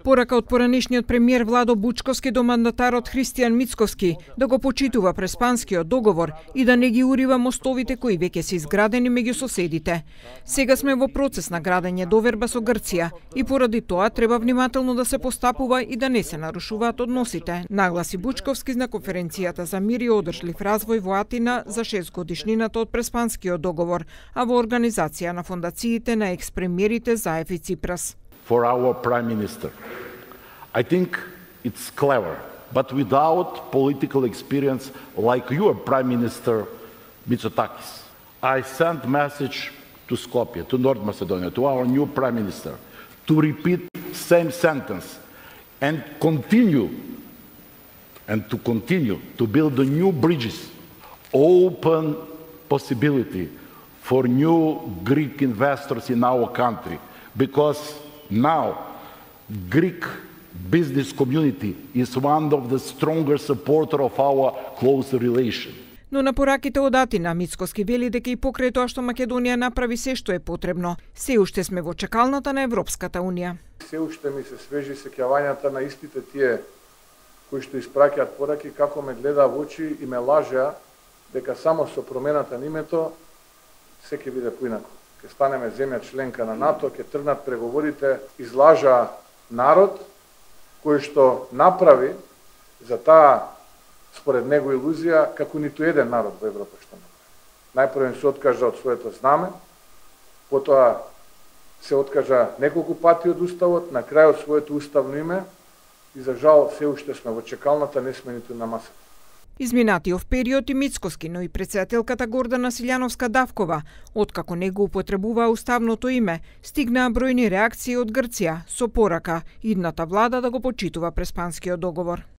Порака од поранешниот премиер Владо Бучковски до мандатарот Христијан Мицковски да го почитува Преспанскиот договор и да не ги урива мостовите кои веќе се изградени меѓу соседите. Сега сме во процес на градење доверба со Грција и поради тоа треба внимателно да се постапува и да не се нарушуваат односите, нагласи Бучковски на конференцијата за мир и одржлив развој во Атина за 6 годишнината од Преспанскиот договор, а во организација на фондациите на експремиерите Заев и Ципрас. For our Prime Minister. I think it's clever, but without political experience like your Prime Minister Mitsotakis. I sent message to Skopje, to North Macedonia, to our new Prime Minister, to repeat same sentence and continue to build the new bridges, open possibility for new Greek investors in our country, because now, Greek business community is one of the stronger supporters of our close relation. Но на пораките од Атина, Мицковски вели дека и покрај тоа што Македонија направи се што е потребно, се уште сме во чекалната на Европската Унија. Се уште ми се свежи сеќавањата на истите тие кои што испраќаат пораки, како ме гледа во очи и ме лажеа дека само со промената на името се ќе биде поинаку. Ќе станеме земја членка на НАТО, ќе тргнат преговорите, излажа народ кој што направи за таа според него илузија како ниту еден народ во Европа што направи. Најпрво се откажа од своето знаме, потоа се откажа неколку пати од уставот, на крајот своето уставно име и за жал се уште сме во чекалната, не сме ниту на масата. Изминатиот период и Мицковски, но и претседателката Гордана Силјановска-Давкова, откако не го употребуваа уставното име, стигнаа бројни реакции од Грција со порака идната влада да го почитува Преспанскиот договор.